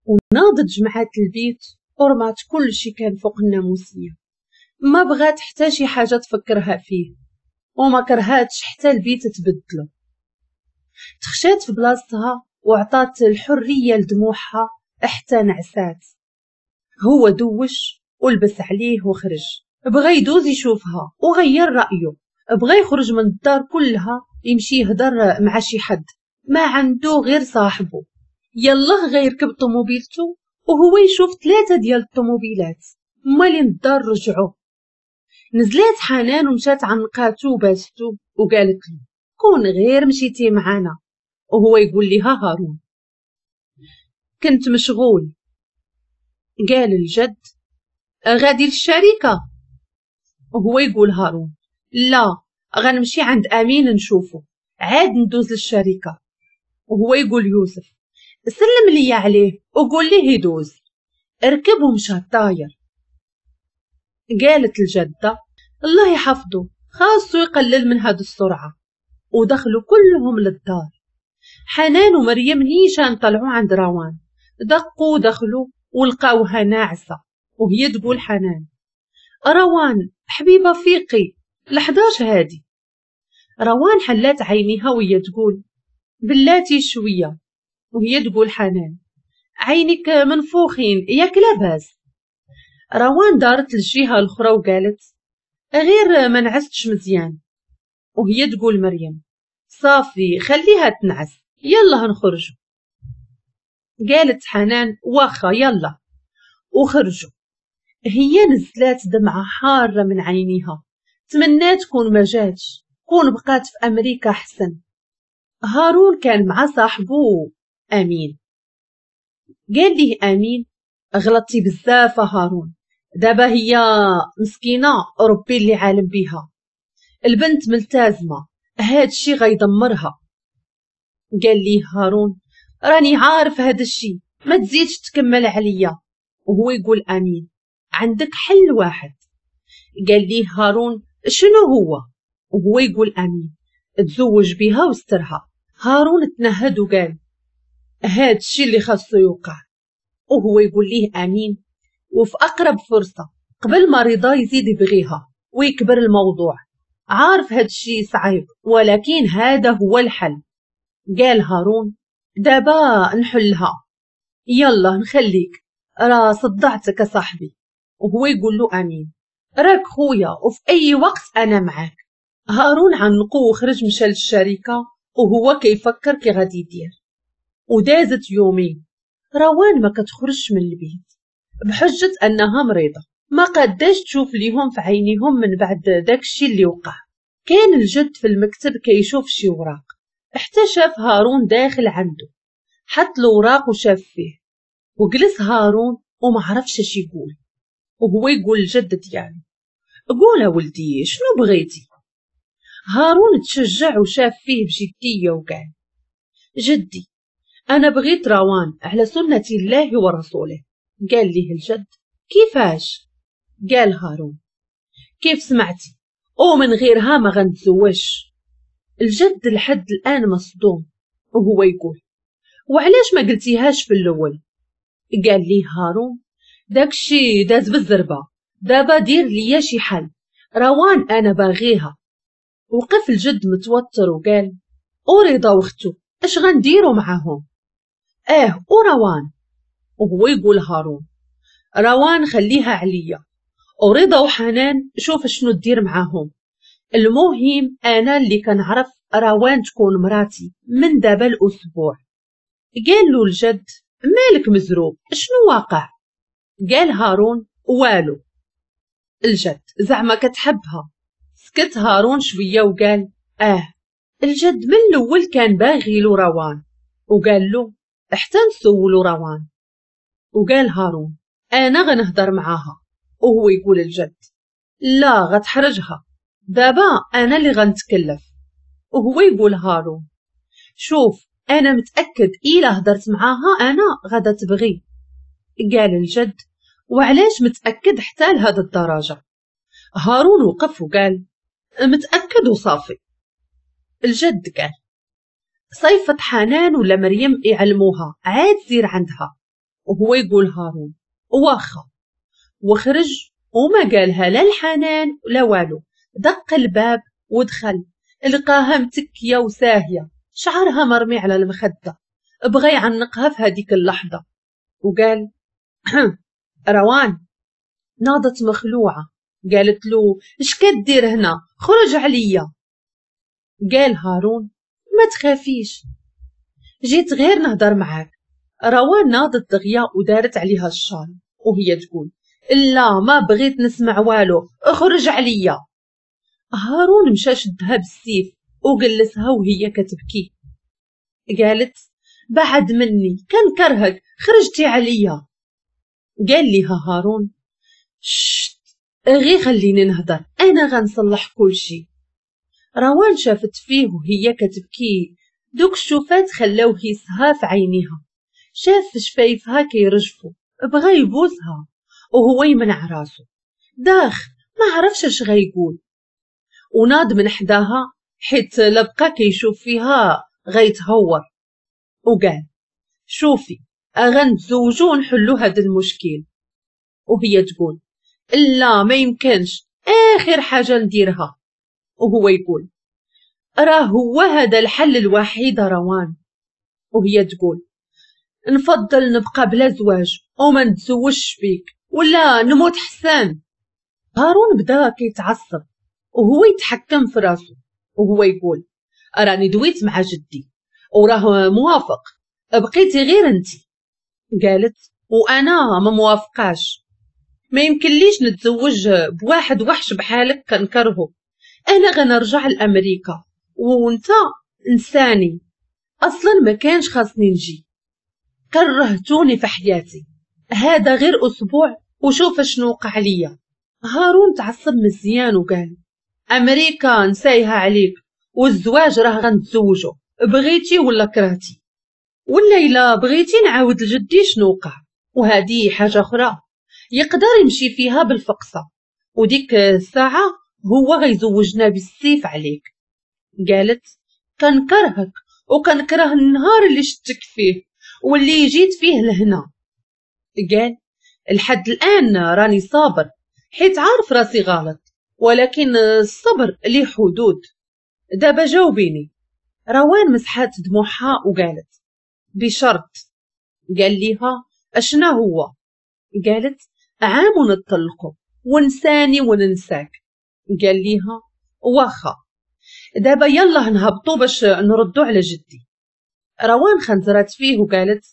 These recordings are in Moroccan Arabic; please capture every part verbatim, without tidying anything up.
وناضت جمعات البيت ورمات كل شي كان فوق الناموسية، ما بغات حتى شي حاجة تفكرها فيه، وما كرهاتش حتى البيت تبدلو. تخشات في بلاصتها وعطات الحرية لدموعها حتى نعسات. هو دوش ولبس عليه وخرج، بغى يدوز يشوفها وغير رأيه، بغى يخرج من الدار كلها يمشي يهضر مع شي حد، ما عنده غير صاحبه. يلا غيركب طوموبيلته وهو يشوف ثلاثة ديال الطوموبيلات مالين الدار رجعوا. نزلات حنان ومشات عنقاتو وباستو وقالت له كون غير مشيتي معانا. وهو يقول لها هارون كنت مشغول. قال الجد غادي للشركة؟ وهو يقول هارون لا، غنمشي عند أمين نشوفه عاد ندوز للشركة. وهو يقول يوسف سلم لي عليه وقول ليه يدوز. ركب ومشى طاير. قالت الجدة الله يحفظه خاصو يقلل من هاد السرعة. ودخلوا كلهم للدار. حنان ومريم نيشان طلعوا عند روان، دقوا ودخلوا ولقاوها ناعسة. وهي تقول حنان روان حبيبة فيقي لحداش هادي. روان حلات عينيها وهي تقول بلاتي شوية. وهي تقول حنان عينك منفوخين ياك لاباس. روان دارت للجهة الأخرى وقالت غير ما نعستش مزيان. وهي تقول مريم صافي خليها تنعس يلا نخرجوا. قالت حنان واخا يلا، وخرجوا. هي نزلات دمعة حارة من عينيها، تمنات كون ما جاتش، كون بقات في أمريكا أحسن. هارون كان مع صاحبه أمين. قال ليه أمين غلطتي بزاف هارون، دابا هي مسكينة ربي اللي عالم بيها، البنت ملتزمة هاد الشي غيدمرها. قال ليه هارون راني عارف هاد الشي ما تزيدش تكمل عليا. وهو يقول أمين عندك حل واحد. قال ليه هارون شنو هو؟ وهو يقول أمين تزوج بها واسترها. هارون تنهد وقال هاد الشي اللي خاصو يوقع. وهو يقول ليه أمين وفي أقرب فرصة قبل ما رضا يزيد يبغيها ويكبر الموضوع، عارف هاد الشي صعيب ولكن هذا هو الحل. قال هارون دابا نحلها يلا نخليك راه صدعتك صاحبي. وهو يقول له أمين راك خويا وفي أي وقت أنا معاك. هارون عنقو وخرج مشى للشركة وهو كيفكر كي غادي يدير. ودازت يومين روان ما كتخرجش من البيت بحجة أنها مريضة، ما قاداش تشوف ليهم في عينيهم من بعد داكشي اللي وقع. كان الجد في المكتب كيشوف شي وراق حتى شاف هارون داخل عنده، حط الوراق وشاف فيه وجلس هارون وما عرفش اش يقول. وهو يقول الجد ديالو قول ولدي شنو بغيتي؟ هارون تشجع وشاف فيه بجدية وقال جدي أنا بغيت روان على سنة الله ورسوله. قال ليه الجد كيفاش؟ قال هارون كيف سمعتي ومن غيرها ما غنتزوجش. الجد لحد الآن مصدوم وهو يقول وعلاش ما قلتيهاش في الأول؟ قال ليه هارون داكشي داز بالزربة، دابا دير ليا شي حل، روان أنا باغيها. وقف الجد متوتر وقال ورضا واختو اش غنديرو معاهم؟ اه وروان. وهو يقول هارون روان خليها عليا، ورضا وحنان شوف شنو دير معاهم، المهم انا اللي كنعرف روان تكون مراتي من دابا الاسبوع. قال له الجد مالك مزروب شنو واقع؟ قال هارون والو. الجد زعما كتحبها؟ سكت هارون شويه وقال اه. الجد من الاول كان باغي له روان وقال له حتى نسولو روان. وقال هارون انا غنهضر معاها. وهو يقول الجد لا غتحرجها، دابا انا اللي غنتكلف. وهو يقول هارون شوف انا متاكد الا هضرت معاها انا غادا تبغي. قال الجد وعلاش متاكد حتى لهاد الدرجه؟ هارون وقف وقال متاكد وصافي. الجد قال صيفط حنان ولا مريم يعلموها عاد سير عندها. وهو يقول هارون واخا، وخرج وما قالها لا الحنان لا والو. دق الباب ودخل، لقاها متكية وساهية، شعرها مرمي على المخدة. بغى يعنقها في هذيك اللحظة وقال روان. ناضت مخلوعة، قالت له اش كدير هنا؟ خرج عليا. قال هارون ما تخافيش، جيت غير نهضر معاك. روان ناضت دغيا ودارت عليها الشال وهي تقول لا ما بغيت نسمع والو، اخرج عليا. هارون مشى شدها بالسيف وجلسها وهي كتبكي. قالت بعد مني كنكرهك، خرجتي عليا. قال لها هارون شت، غير خليني نهضر، انا غنصلح كل شيء. روان شافت فيه وهي كتبكي، دوك الشوفات خلاوه يسها في عينيها. شاف شفايفها كيرجفوا، بغى يبوسها وهو يمنع راسو، داخ ما عرفش اش غيقول. وناض من حداها حيت لبقى كيشوف فيها غيتهور، وقال شوفي غنتزوجو ونحلو هذا المشكل. وهي تقول لا ما يمكنش، اخر حاجة نديرها. وهو يقول راه هو هذا الحل الوحيد روان. وهي تقول نفضل نبقى بلا زواج وما نتزوجش بيك ولا نموت حسان. هارون بدا كيتعصب وهو يتحكم في راسو وهو يقول راني دويت مع جدي وراه موافق، بقيتي غير انتي. قالت وانا ما موافقاش، ما يمكنليش نتزوج بواحد وحش بحالك كنكرهو، انا غنرجع لامريكا وانت انساني، اصلا ما كانش خاصني نجي، كرهتوني في حياتي، هذا غير اسبوع وشوف شنو وقع ليا. هارون تعصب مزيان وقال امريكا نسايها عليك، والزواج راه غنتزوجو بغيتي ولا كرهتي، ولا الا بغيتي نعاود لجدي شنو وقع، وهذه حاجة اخرى يقدر يمشي فيها بالفقصه، وديك الساعة هو غيزوجنا بالسيف عليك. قالت كنكرهك وكنكره النهار اللي شتك فيه واللي جيت فيه لهنا. قال لحد الان راني صابر حيت عارف راسي غلط، ولكن الصبر ليه حدود. دابا جاوبيني. روان مسحات دموعها وقالت بشرط. قال ليها اشنا هو؟ قالت عام ونطلقو ونساني وننساك. قال ليها واخا، دابا يلا نهبطو باش نردو على جدي. روان خنزرات فيه وقالت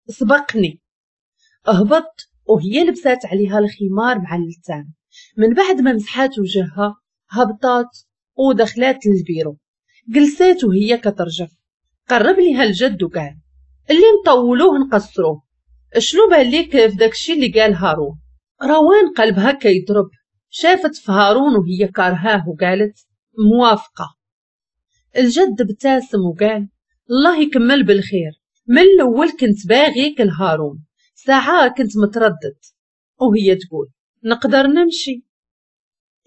سبقني. هبط وهي لبسات عليها الخمار مع اللتان. من بعد ما مسحات وجهها هبطات ودخلات للبيرو، جلسات وهي كترجف. قرب ليها الجد وقال اللي نطولوه نقصروه، شنو بان ليك في داكشي اللي قال هارون؟ روان قلبها كيضرب، شافت في هارون وهي كارهاه وقالت موافقة. الجد ابتسم وقال الله يكمل بالخير، من الاول كنت باغيك لهارون، ساعة كنت متردد. وهي تقول نقدر نمشي.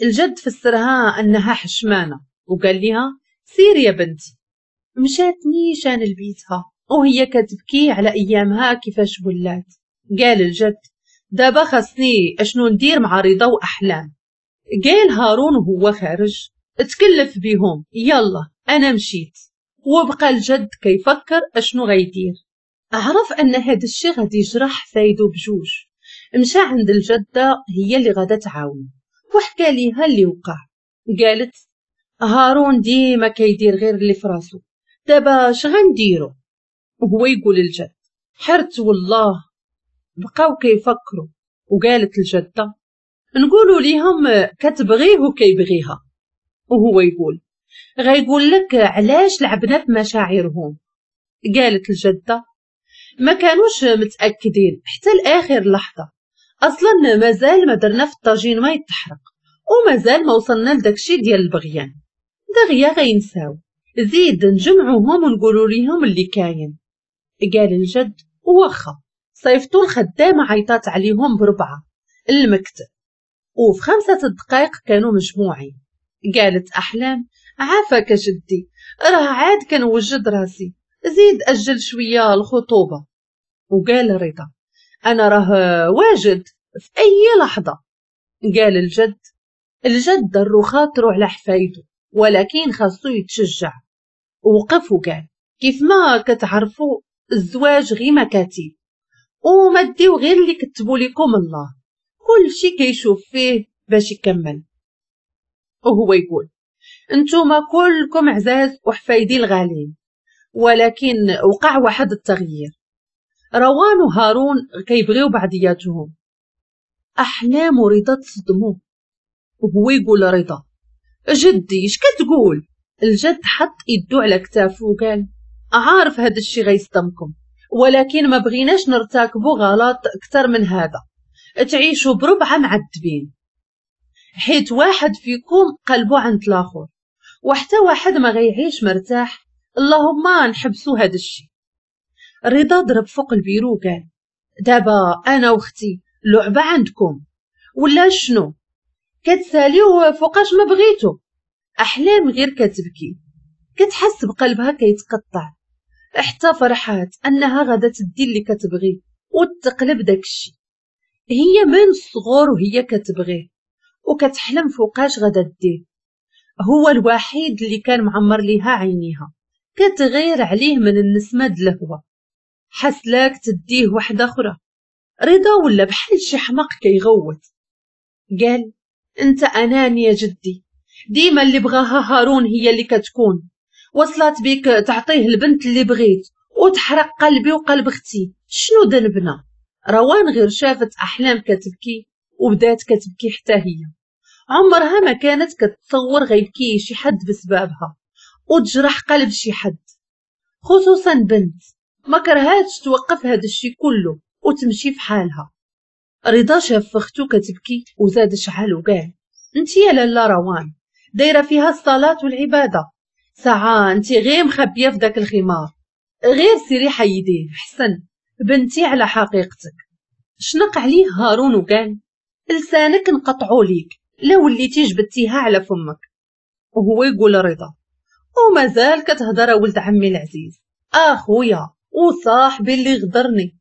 الجد فسرها انها حشمانه وقال لها سيري يا بنتي. مشات نيشان لبيتها وهي كتبكي على ايامها كيفاش ولات. قال الجد دابا خاصني اشنو ندير مع رضا واحلام. قال هارون وهو خارج اتكلف بيهم، يلا انا مشيت. وبقى الجد كيفكر اشنو غيدير. عرف ان هذا الشيء غادي يجرح فايدو بجوج. مشى عند الجدة هي اللي غادا تعاون وحكى ليها اللي وقع. قالت هارون ديما كيدير غير اللي فراسو، دابا اش غنديرو؟ وهو يقول الجد حرت والله. بقاو كيفكروا وقالت الجدة نقولوا ليهم كتبغيه وكيبغيها. وهو يقول غيقول لك علاش لعبنا في مشاعرهم. قالت الجدة ما كانوش متاكدين حتى لاخر لحظة، اصلا مازال ما درنا في الطاجين ما يتحرق، ومازال ما وصلنا لداكشي ديال البغيان، دغيا غينساو، زيد نجمعوهم ونقولوا ليهم اللي كاين. قال الجد واخا. صيفطوا الخدامة عيطات عليهم بربعه المكتب، وفي خمسة دقائق كانوا مجموعين. قالت احلام عافاك جدي، راه عاد كنوجد راسي، زيد اجل شوية الخطوبة. وقال رضا انا راه واجد في اي لحظة. قال الجد، الجد ضرو خاطرو على حفايده ولكن خاصو يتشجع. وقف وقال كيف ما كتعرفوا الزواج غير مكاتب وما ديو غير اللي كتبوا لكم الله، كل شي كيشوف فيه باش يكمل. وهو يقول انتوما كلكم عزاز وحفايدي الغالين، ولكن وقع واحد التغيير. روان وهارون كيبغيو بعضياتهم. احلام ورضا تصدموا. وهو يقول رضا جدي اش كتقول؟ الجد حط يدو على كتافو وقال عارف هذا الشي غيصدمكم، ولكن ما بغيناش نرتكبوا غلط اكثر من هذا، تعيشوا بربعه معذبين، حيت واحد فيكم قلبو عند الاخر وحتى واحد ما غيعيش مرتاح، اللهم نحبسوا هذا الشي. رضا ضرب فوق البيرو وقال دابا انا واختي لعبه عندكم ولا شنو؟ كتساليو فوقاش ما بغيتو. احلام غير كتبكي، كتحس بقلبها كيتقطع، حتى فرحات انها غادا تدي اللي كتبغي وتقلب داكشي. هي من الصغر وهي كتبغيه وكتحلم فوقاش غادا ديه، هو الوحيد اللي كان معمر ليها عينيها، كتغير عليه من النسمه د الهوا، حسلاك تديه وحده اخرى. رضا ولا بحال شي حمق كيغوت، قال انت اناني يا جدي، ديما اللي بغاها هارون هي اللي كتكون، وصلت بيك تعطيه البنت اللي بغيت وتحرق قلبي وقلب اختي، شنو ذنبنا؟ روان غير شافت احلام كتبكي وبدات كتبكي حتى هي، عمرها ما كانت كتصور غيبكي شي حد بسببها وتجرح قلب شي حد، خصوصا بنت ما كرهاتش توقف هذا الشي كله وتمشي في حالها. رضا شاف اختو كتبكي وزاد شعل وقال انت يا لاله روان دايرة فيها الصلاة والعبادة، ساعة انت غير مخبيه في داك الخمار، غير سيري حيديه حسن بنتي على حقيقتك. شنق عليه هارون وقال لسانك نقطعو ليك لا وليتي جبدتيها على فمك. وهو يقول رضا ومازال كتهضر ولد عمي العزيز، اخويا وصاحبي اللي غدرني،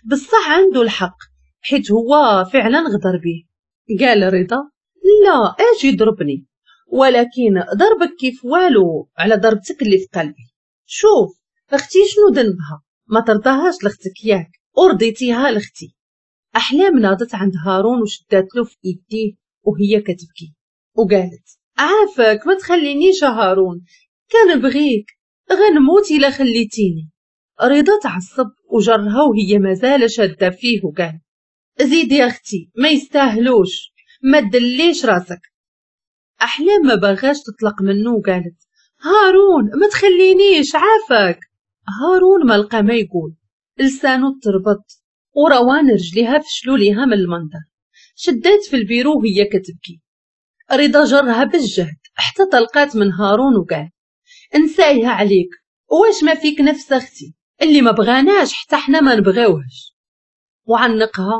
بصح عنده الحق حيت هو فعلا غدر بيه. قال رضا لا اجي ضربني، ولكن ضربك كيف والو على ضربتك اللي في قلبي. شوف اختي شنو ذنبها، ما ترضاهاش لاختك ياك ورضيتيها لاختي. احلام ناضت عند هارون وشدات له في ايديه وهي كتبكي وقالت عافاك ما تخلينيش هارون، كنبغيك غنموت الا خليتيني. رضا تعصب وجرها وهي مازال شاده فيه وقال زيدي يا اختي ما يستاهلوش، ما تدليش راسك. احلام ما بغاش تطلق منه وقالت هارون ما تخلينيش عافاك. هارون ما لقى ما يقول، لسانه تربط وروان رجليها فشلوا ليها من المنظر، شدات في البيرو وهي كتبكي. رضا جرها بالجهد حتى طلقات من هارون وقال انسايها عليك، واش ما فيك نفس اختي اللي ما بغاناش حتى حنا ما نبغيوهش. وعنقها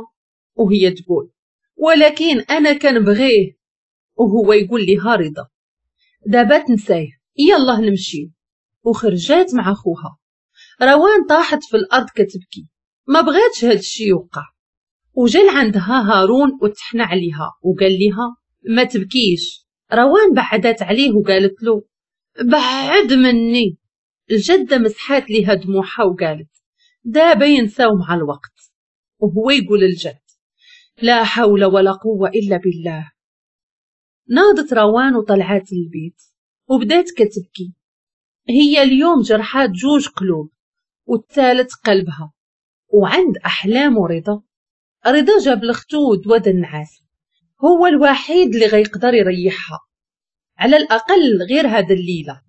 وهي تقول ولكن انا كنبغيه. وهو يقول لها رضا دابا تنسايه يلا نمشي. وخرجات مع خوها. روان طاحت في الارض كتبكي، ما بغاتش هاد الشي يوقع. وجا عندها هارون وتحنى عليها وقال لها ما تبكيش. روان بعدت عليه وقالت له بعد مني. الجدة مسحات ليها دموعها وقالت دابا ينساو مع الوقت. وهو يقول الجد لا حول ولا قوة إلا بالله. ناضت روان وطلعت البيت وبدات كتبكي. هي اليوم جرحات جوج قلوب والثالث قلبها. وعند أحلام ورضا، رضا جاب لختو دوا النعاس، هو الوحيد اللي غيقدر يريحها على الأقل غير هذا الليلة.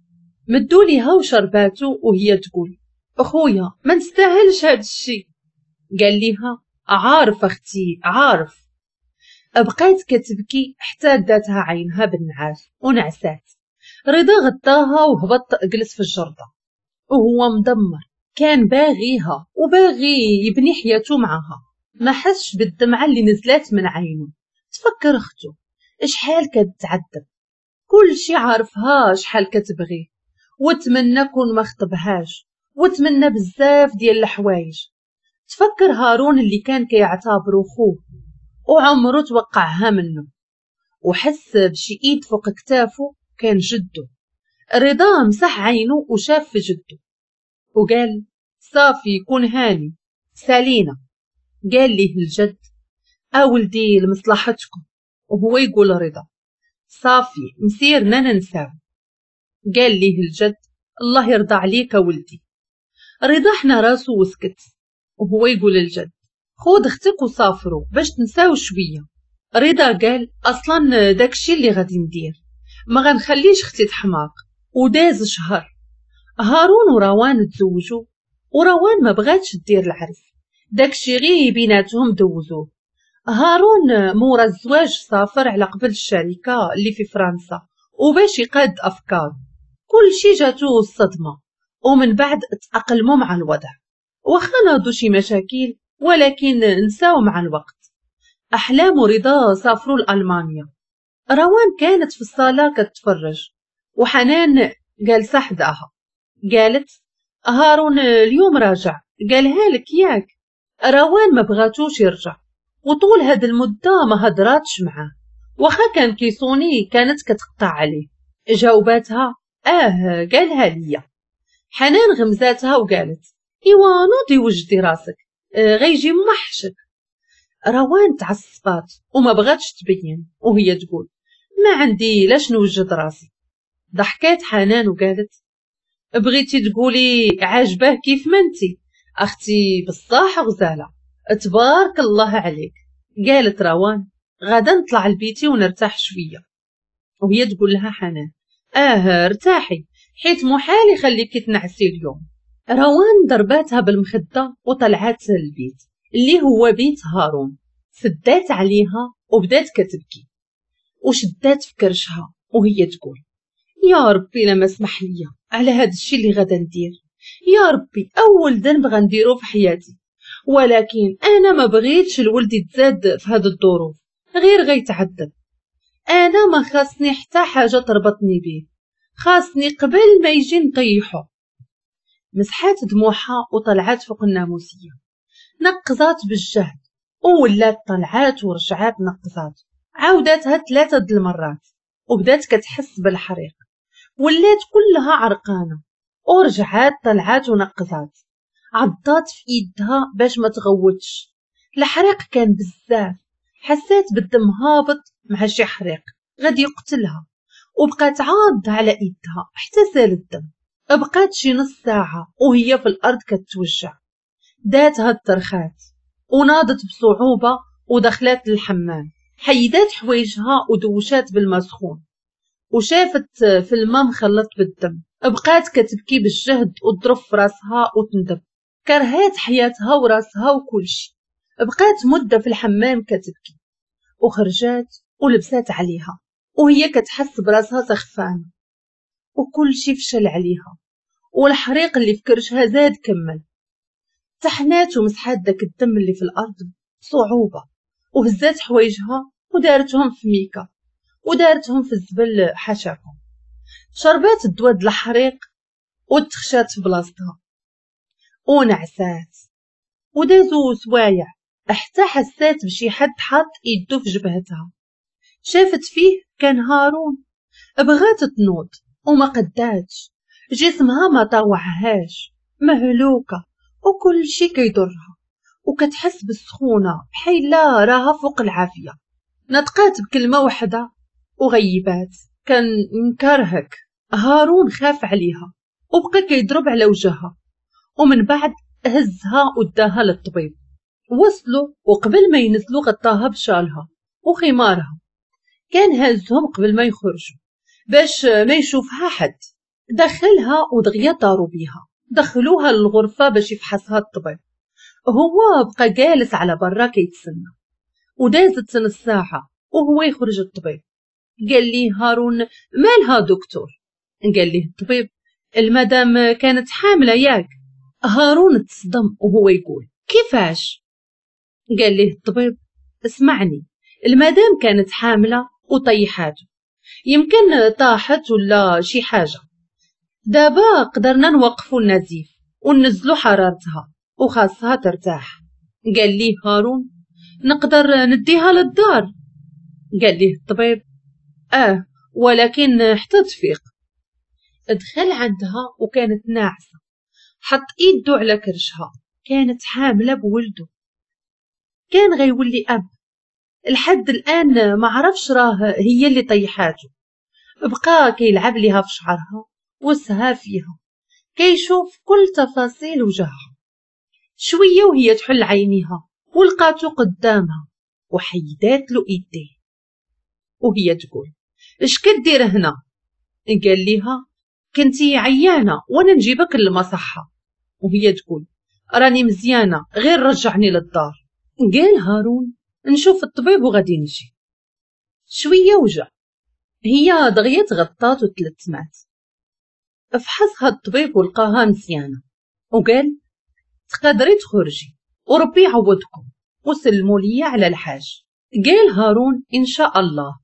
مدوا ليها وشرباتو وهي تقول أخويا ما نستاهلش هاد الشي. قال ليها عارف أختي عارف. بقات كتبكي حتى داتها عينها بالنعاس ونعسات. رضا غطاها وهبط جلس في الجردة وهو مدمر، كان باغيها وباغي يبني حياته معها. ما حسش بالدمعة اللي نزلات من عينه. تفكر اختو شحال كتعذب، كل شي عارفها شحال كتبغيه، وتمنى كون ما خطبهاش، وتمنى بزاف ديال الحوايج. تفكر هارون اللي كان كيعتبره خوه وعمره توقعها منه، وحس بشي ايد فوق كتافه كان جده. رضا مسح عينه وشاف في جده وقال صافي كون هاني سالينا. قال ليه الجد اولدي لمصلحتكم، وهو يقول رضا صافي مسيرنا ننساو. قال ليه الجد الله يرضى عليك ولدي. رضا حنا راسو وسكت، وهو يقول الجد خود اختك وسافروا باش تنساو شوية. رضا قال اصلا داكشي اللي غادي ندير، ما غنخليش اختي تحماق. وداز شهر، هارون وروان تزوجوا، وروان ما بغاتش دير العرس، داكشي غير بيناتهم دوزوه. هارون مورا الزواج سافر على قبل الشركة اللي في فرنسا وباش يقاد افكاره، كل شي جاتو الصدمة، ومن بعد تأقلموا مع الوضع، واخا ناضوا شي مشاكل ولكن نساو مع الوقت. احلام ورضا سافروا لالمانيا. روان كانت في الصاله كتفرج وحنان جالسة حداها. قالت هارون اليوم راجع، قالها لك ياك؟ روان ما بغاتوش يرجع، وطول هاد المدة ما هدراتش معاه، واخا كان كيصوني كانت كتقطع عليه. جاوباتها اه قالها ليا. حنان غمزاتها وقالت ايوا نوضي وجدي راسك، آه غيجي محشك. روان تعصبات وما بغاتش تبين، وهي تقول ما عندي لاش نوجد راسي. ضحكات حنان وقالت بغيتي تقولي عاجباه كيف ما انتي اختي، بصح غزاله تبارك الله عليك. قالت روان غدا نطلع لبيتي ونرتاح شوية، وهي تقول لها حنان اه ارتاحي حيت محال يخليك تنعسي اليوم. روان ضرباتها بالمخده وطلعات للبيت اللي هو بيت هارون، سدات عليها وبدات كتبكي وشدات في كرشها وهي تقول يا ربي لما اسمح لي على هذا الشيء اللي غدا ندير، يا ربي اول ذنب غنديرو في حياتي، ولكن انا ما بغيتش الولد يتزاد في هاد الظروف غير غيتعذب. انا ما خاصني حتى حاجة تربطني به، خاصني قبل ما يجي نطيحو. مسحات دموعها وطلعات فوق الناموسيه، نقزات بالجهد وولات طلعات ورجعات نقزات، عاوداتها ثلاثة د المرات وبدات كتحس بالحريق، ولات كلها عرقانه، ورجعات طلعات ونقزات، عضات في ايدها باش ما تغوتش. الحريق كان بزاف، حسات بالدم هابط مع شي حريق غادي يقتلها، وبقات عاضة على ايدها حتى سال الدم. بقات شي نص ساعة وهي في الارض كتوجع، داتها الترخات وناضت بصعوبة ودخلت للحمام، حيدات حوايجها ودوشات بالماء سخون، وشافت في الماء مخلط بالدم. بقات كتبكي بالجهد وتضرب في راسها وتندب، كرهات حياتها وراسها وكلشي. بقات مده في الحمام كتبكي، وخرجات ولبسات عليها وهي كتحس براسها سخفانه، وكلشي فشل عليها، والحريق اللي في كرشها زاد كمل. تحنات ومسحات داك الدم اللي في الارض بصعوبة، وهزات حوايجها ودارتهم في ميكا ودارتهم في الزبل حاشاكم. شربات الدواء د الحريق وتخشات في بلاصتها ونعسات. ودازو سوايع حتى حسات بشي حد حاط ايدو في جبهتها، شافت فيه كان هارون. بغات تنوض وما قداتش، جسمها ما طاوعهاش، مهلوكه وكل شي كيضرها، وكتحس بالسخونه بحال لا راها فوق العافية. نطقات بكلمه وحده وغيبات، كان نكرهك. هارون خاف عليها وبقى كيضرب على وجهها، ومن بعد هزها وداها للطبيب. وصلوا وقبل ما ينزلوا غطاها بشالها وخمارها، كان هزهم قبل ما يخرجوا باش ما يشوفها حد. دخلها ودغيا طاروا بيها، دخلوها للغرفة باش يفحصها الطبيب. هو بقى جالس على برا كيتسنى، ودازت نص ساعة وهو يخرج الطبيب. قال لي هارون مالها دكتور؟ قال لي الطبيب المدام كانت حاملة ياك. هارون تصدم وهو يقول كيفاش؟ قال ليه الطبيب اسمعني، المدام كانت حاملة وطيحاته، يمكن طاحت ولا شي حاجة. دابا قدرنا نوقفوا النزيف وننزلوا حرارتها وخاصها ترتاح. قال ليه هارون نقدر نديها للدار؟ قال ليه الطبيب اه ولكن حتى تفيق. دخل عندها وكانت ناعسة، حط ايده على كرشها، كانت حاملة بولده، كان غيولي اب. لحد الان ما عرفش راه هي اللي طيحاته. بقى كيلعب ليها في شعرها وسها فيها، كيشوف كل تفاصيل وجهها. شوية وهي تحل عينيها ولقاتو قدامها وحيدات له ايديه وهي تقول اش كدير هنا؟ قال ليها كنتي عيانه وانا نجيبك للمصحه. وهي تقول راني مزيانه غير رجعني للدار. قال هارون نشوف الطبيب وغادي نجي. شوية وجا، هي دغيا تغطات وتلتمات. فحصها الطبيب ولقاها مزيانه وقال تقدري تخرجي وربي يعوضكم وسلموا لي على الحاج. قال هارون ان شاء الله.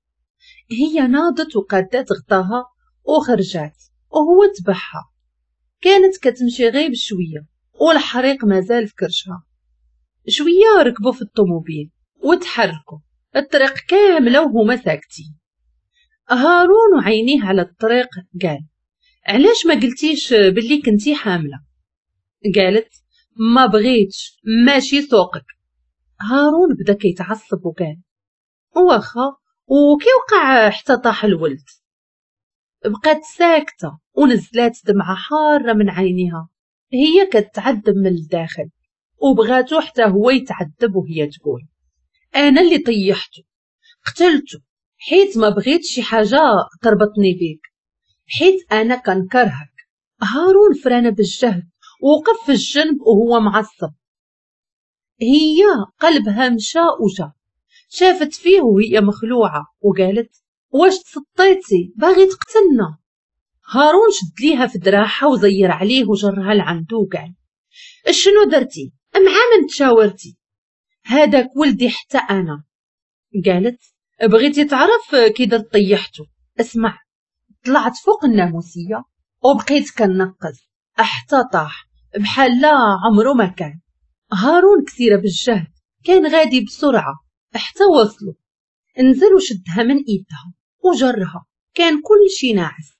هي ناضت وقادت غطاها وخرجات وهو تبعها. كانت كتمشي غير بشوية والحريق مازال في كرشها. شوية ركبوا في الطوموبيل وتحركوا الطريق كاملة وهما ساكتين. هارون وعينيه على الطريق قال علاش ما قلتيش باللي كنتي حامله؟ قالت ما بغيتش، ماشي سوقك. هارون بدا كيتعصب وقال واخا، وكي وقع حتى طاح الولد؟ بقات ساكته ونزلات دمعه حارة من عينيها. هي كتعذب من الداخل وبغاتو حتى هو يتعذب، وهي تقول انا اللي طيحته قتلته حيت ما بغيت شي حاجة تربطني بيك، حيت انا كنكرهك. هارون فرانه بالجهد ووقف في الجنب وهو معصب. هي قلبها مشى وجا، شافت فيه وهي مخلوعه وقالت واش تسطيتي باغي تقتلنا؟ هارون شد ليها في دراعها وزير عليه وجرها لعندو وقال شنو درتي؟ مع من تشاورتي؟ هذاك ولدي حتى انا. قالت بغيتي تعرف كي درت طيحته؟ اسمع، طلعت فوق الناموسيه وبقيت كنقز حتى طاح بحال لا عمره ما كان. هارون كثيرة بالجهد، كان غادي بسرعة حتى وصلوا. نزل وشدها من ايدها وجرها، كان كل شي ناعس.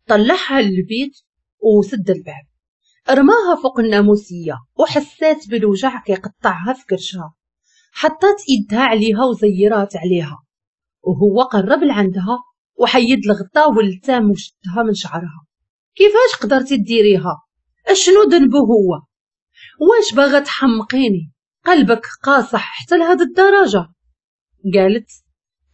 طلعها للبيت وسد الباب، رماها فوق الناموسيه وحسات بالوجع كيقطعها في كرشها. حطت ايدها عليها وزيرات عليها، وهو قرب لعندها وحيد الغطاء والتام وشدها من شعرها. كيفاش قدرتي ديريها؟ اشنو ذنبه هو؟ واش باغا تحمقيني؟ قلبك قاصح حتى لهاد الدرجة؟ قالت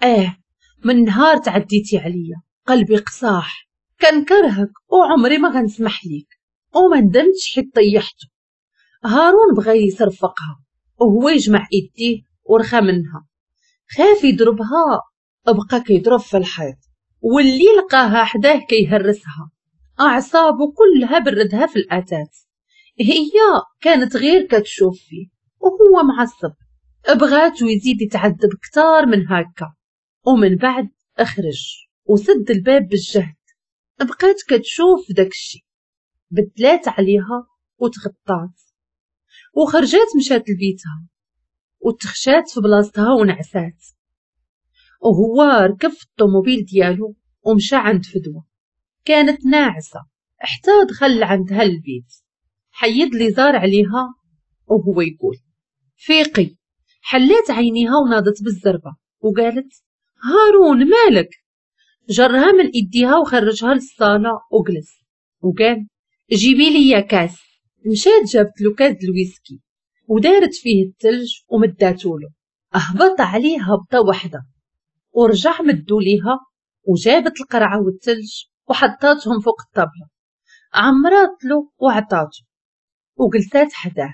اه من نهار تعديتي عليا قلبي قصاح، كنكرهك وعمري ما غنسمح ليك، وما ندمتش حيت طيحته. هارون بغى يصرفقها وهو يجمع ايديه ورخى منها، خاف يضربها، بقى كيضرب في الحيط واللي لقاها حداه كيهرسها. اعصابه كلها بردها في الاتات. هي كانت غير كتشوف فيه وهو معصب، بغاتو يزيد يتعذب كتار من هكا. ومن بعد اخرج وسد الباب بالجهد. بقات كتشوف داكشي، بدلات عليها وتغطات وخرجات مشات لبيتها وتخشات في بلاصتها ونعسات. وهو ركب في الطوموبيل ديالو ومشى عند فدوى، كانت ناعسة حتى دخل عندها البيت. حيد لي زار عليها وهو يقول فيقي. حلات عينيها وناضت بالزربة وقالت هارون مالك؟ جرها من ايديها وخرجها للصالة وجلس وقال جيبي لي كاس. مشات جابت له كاس الويسكي ودارت فيه الثلج ومداتو له. اهبط عليه هبطه وحده ورجع مدو ليها وجابت القرعة والثلج وحطاتهم فوق الطابله، عمرات له وعطاتو وجلسات حداه.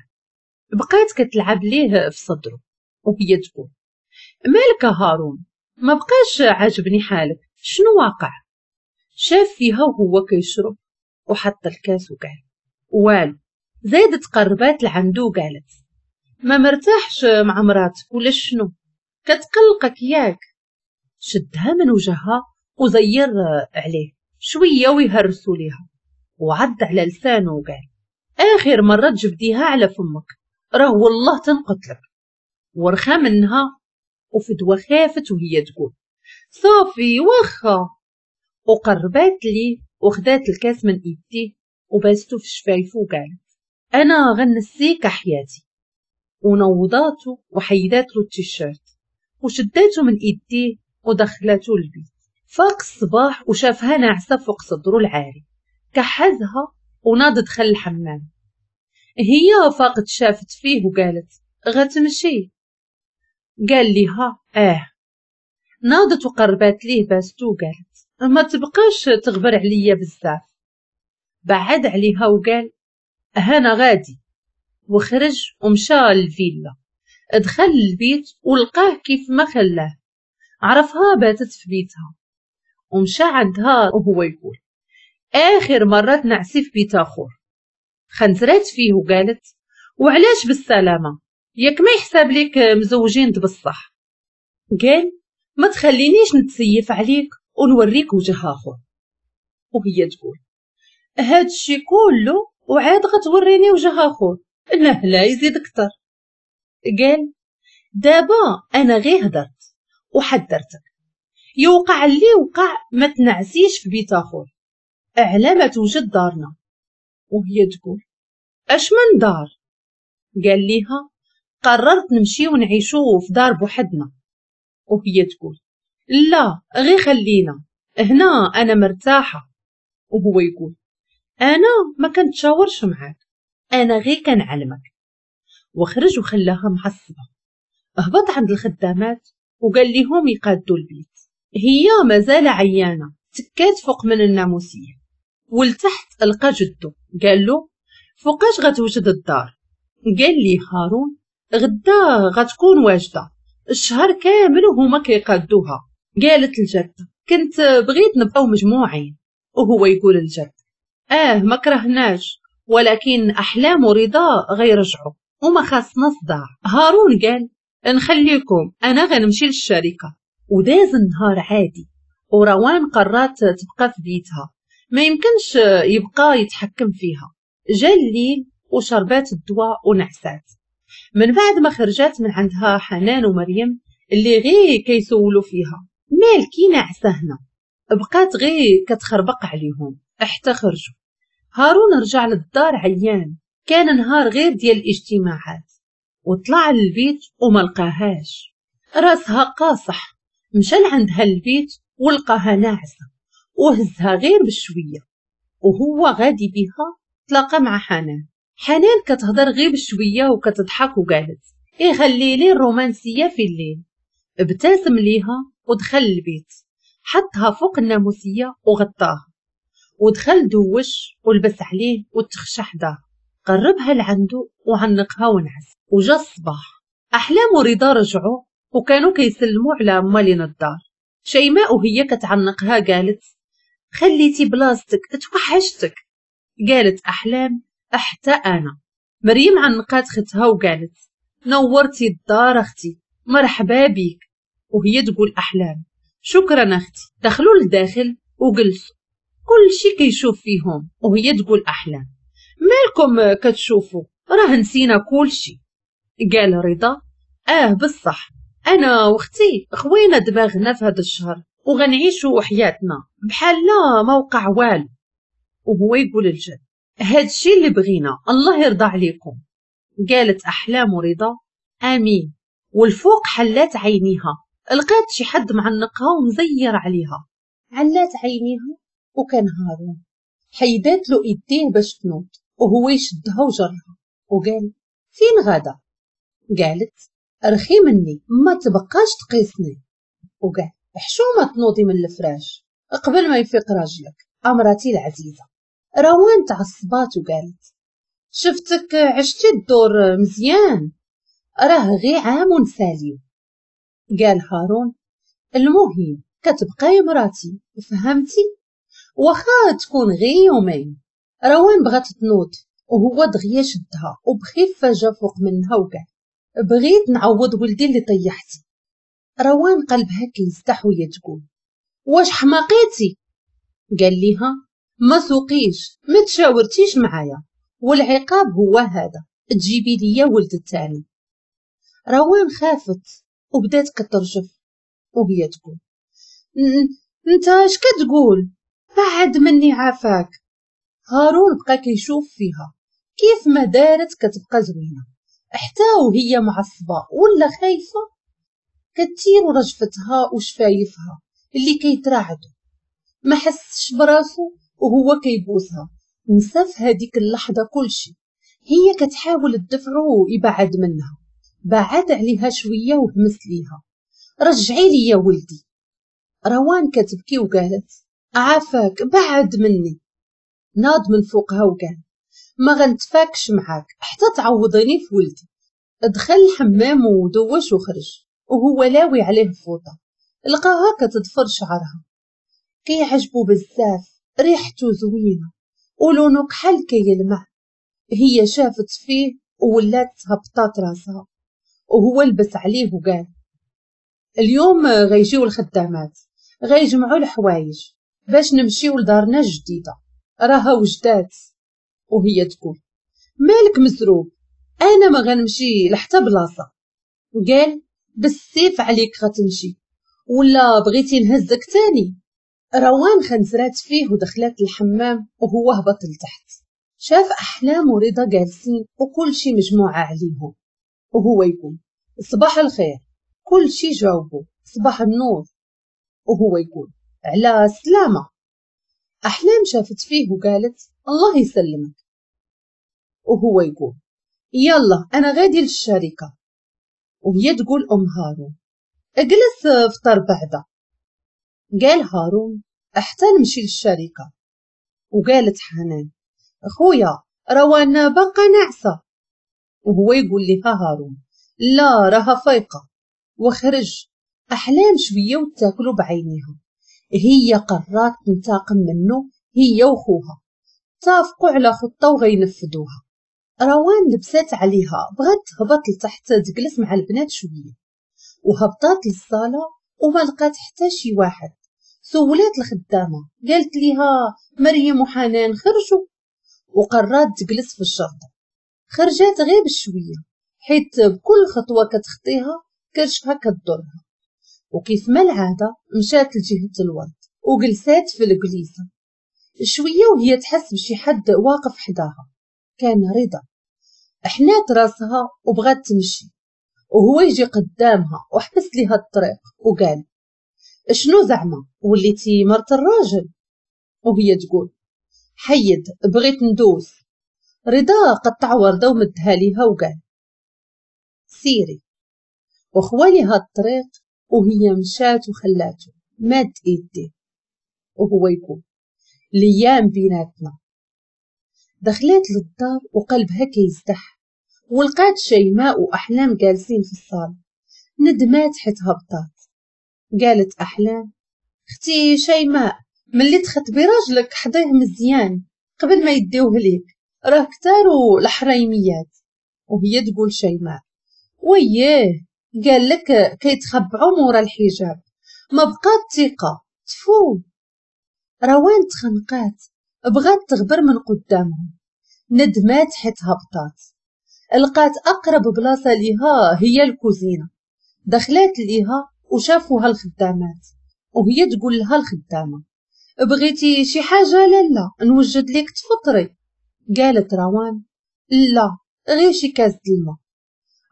بقات كتلعب ليه في صدره وهي تقول مالك هارون؟ ما بقاش عاجبني حالك، شنو واقع؟ شاف فيها وهو كيشرب وحط الكاس وقال والو. زادت قربات لعندو وقالت ما مرتاحش مع مراتك ولا شنو؟ كتقلقك ياك؟ شدها من وجهها وزير عليه شوية ويهرسوا ليها وعض على لسانه وقال اخر مرة تجبديها على فمك راه والله تنقتلك. ورخا منها وفدوى خافت وهي تقول صافي واخا، وقربات ليه وخدات الكاس من ايديه وباستو في شفايفو وقالت انا غنسيك حياتي. ونوضاتو وحيدات له التيشيرت وشداتو من ايديه ودخلاتو للبيت. فاق الصباح وشافها ناعسه فوق صدرو العاري، كحزها وناض دخل الحمام. هي فاقت شافت فيه وقالت غتمشي؟ قال ليها اه. ناضت وقربات ليه باستو وقالت ما تبقاش تغبر عليا بزاف. بعد عليها وقال هانا غادي، وخرج ومشى للفيلا. دخل البيت ولقاه كيف ما خلاه، عرفها باتت في بيتها ومشى عندها وهو يقول اخر مرة تنعسي في بيت اخر. خنزرات فيه وقالت وعلاش بالسلامة؟ ياك ما يحسب ليك مزوجين بصح؟ قال ما تخلينيش نتسيف عليك ونوريك وجه اخر. وهي تقول هاد الشي كله وعاد غتوريني وجه اخر؟ لا لا يزيد اكثر. قال دابا انا غير هدرت وحذرتك، يوقع اللي وقع ما تنعسيش في بيت اخر اعلى ما توجد دارنا. وهي تقول اش من دار؟ قال ليها قررت نمشي ونعيشو في دار بوحدنا. وهي تقول لا غير خلينا هنا انا مرتاحة. وهو يقول انا ما كنتشاورش معاك، انا غير كنعلمك. وخرج وخلاها معصبة. هبط عند الخدامات وقال لهم يقادوا البيت. هي مازال عيانه، تكات فوق من الناموسيه. ولتحت لقى جدو، قال له فوقاش غتوجد الدار؟ قال لي هارون غدا غتكون واجدة، الشهر كامل وهما كيقادوها. قالت الجدة كنت بغيت نبقاو مجموعين. وهو يقول الجد اه ما كرهناش، ولكن احلام ورضا غيرجعوا وما خاصنا صداع. هارون قال نخليكم انا غنمشي للشركة. وداز النهار عادي، وروان قررت تبقى في بيتها، ما يمكنش يبقى يتحكم فيها. جا الليل وشربات الدواء ونعسات. من بعد ما خرجات من عندها حنان ومريم اللي غير كيسولوا فيها مالكي ناعسه هنا، بقات غير كتخربق عليهم حتى خرجوا. هارون رجع للدار عيان، كان نهار غير ديال الاجتماعات، وطلع للبيت وما لقاهاش. راسها قاصح، مشى لعندها البيت ولقاها ناعسه وهزها غير بشوية. وهو غادي بها تلاقى مع حنان. حنان كتهضر غير بشوية وكتضحك وقالت ايه خلي لي الرومانسية في الليل. ابتسم ليها ودخل البيت، حطها فوق الناموسيه وغطاها، ودخل دوش ولبس عليه وتخشى حداه. قربها لعنده وعنقها ونعس. وجا الصباح احلام ورضا رجعوا وكانوا كيسلموا على مالين الدار. شيماء وهي كتعنقها قالت خليتي بلاصتك توحشتك. قالت احلام حتى انا. مريم عنقات ختها وقالت نورتي الدار اختي مرحبا بيك. وهي تقول احلام شكرا اختي. دخلوا للداخل وجلسوا، كل شي كيشوف فيهم. وهي تقول احلام مالكم كتشوفوا راه نسينا كل شي. قال رضا اه بصح انا واختي خوينا دماغنا في هذا الشهر وغنعيشوا حياتنا بحال لا ما وقع والو. وهو يقول الجد هادشي اللي بغينا الله يرضى عليكم. قالت احلام ورضا امين. والفوق حلات عينيها لقات شي حد معنقها ومزير عليها. علات عينيها وكان هارون. حيدات له ايديه باش تنوض وهو يشدها وجرها وقال فين غادا؟ قالت رخي مني ما تبقاش تقيسني. وقال حشومه تنوضي من الفراش قبل ما يفيق راجلك امراتي العزيزة. روان تعصبات وقالت شفتك عشتي الدور مزيان راه غي عام ونساليو. قال هارون المهم كتبقاي مراتي فهمتي واخا تكون غي يومين. روان بغات تنوض وهو دغيا شدها وبخفه جا فوق منها وقال بغيت نعوض ولدي اللي طيحتي. روان قلبها كيزدح وهي تقول واش حماقيتي؟ قال ليها ما سوقيش ما تشاورتيش معايا والعقاب هو هذا، تجيبي ليا ولد الثاني. روان خافت وبدات كترجف وهي تقول انت اش كتقول؟ بعد مني عافاك. هارون بقى كيشوف فيها كيف ما دارت كتبقى زوينة حتى وهي معصبة ولا خايفة، كتير رجفتها وشفايفها اللي كيترعدوا. ما حسش براسو وهو كيبوسها، نسى في هذيك اللحظة كلشي. هي كتحاول تدفعو يبعد منها، بعد عليها شوية وهمس ليها رجعي لي يا ولدي. روان كتبكي وقالت عافاك بعد مني. ناض من فوقها وقال ما غنتفاكش معاك حتى تعوضيني في ولدي. دخل الحمام ودوش وخرج وهو لاوي عليه فوطه، لقاها كتضفر شعرها، كيعجبو بزاف، ريحته زوينة ولونه كحل كيلمع. هي شافت فيه وولات هبطات راسها، وهو لبس عليه وقال اليوم غيجيو الخدامات غيجمعوا الحوايج باش نمشيو لدارنا الجديدة، راها وجدات. وهي تقول مالك مزروب، انا ما غنمشي لحتى بلاصة. قال بالسيف عليك غتمشي ولا بغيتي نهزك تاني؟ روان خنزرات فيه ودخلت الحمام وهو هبط لتحت. شاف احلام ورضا جالسين وكل شي مجموعة عليهم، وهو يقول صباح الخير. كل شي جاوبوا صباح النور، وهو يقول على السلامة. احلام شافت فيه وقالت الله يسلمك، وهو يقول يلا انا غادي للشركة. وهي تقول ام هارون اجلس فطر بعدا. قال هارون حتى نمشي للشركة. وقالت حنان اخويا روان باقا ناعسه. وهو يقول لها هارون لا راها فايقه. وخرج. احلام شوية وتاكلوا بعينيها، هي قررت تنتقم منه هي وخوها، تافقوا على خطه وغينفذوها. روان لبسات عليها بغات تهبط لتحت تجلس مع البنات شوية، وهبطات للصاله وما لقات حتى شي واحد. سولات الخدامة قالت ليها مريم وحنان خرجوا، وقررت تجلس في الشرطة. خرجات غير بشوية حيت بكل خطوة كتخطيها كرشها كتضرها، وكيف ما العادة مشات لجهة الورد وجلسات في الجليسه شوية، وهي تحس بشي حد واقف حداها، كان رضا. حنات راسها وبغات تمشي وهو يجي قدامها وحبس ليها الطريق وقال شنو زعما وليتي مرت الراجل؟ وهي تقول حيد بغيت ندوز. رضا قطع ورده ومدها ليها وقال سيري، وخواليها الطريق وهي مشات وخلاته ماد ايديه وهو يقول ليام بيناتنا. دخلت للدار وقلبها كيزدح، ولقات شيماء واحلام جالسين في الصالة. ندمات حيت هبطات. قالت احلام اختي شيماء ملي تخطبي راجلك حضيه مزيان قبل ما يديوه ليك، راه كتارو الحريميات. وهي تقول شيماء وياه قال لك كيتخبعوا مورا الحجاب، ما بقات ثقة تفو. روان تخنقات بغات تغبر من قدامهم، ندمات حيت هبطات. لقات اقرب بلاصة ليها هي الكوزينة، دخلات ليها وشافوها الخدامات، وهي تقول لها الخدامة بغيتي شي حاجة؟ لالا نوجد لك تفطري. قالت روان لا غير شي كاس الماء.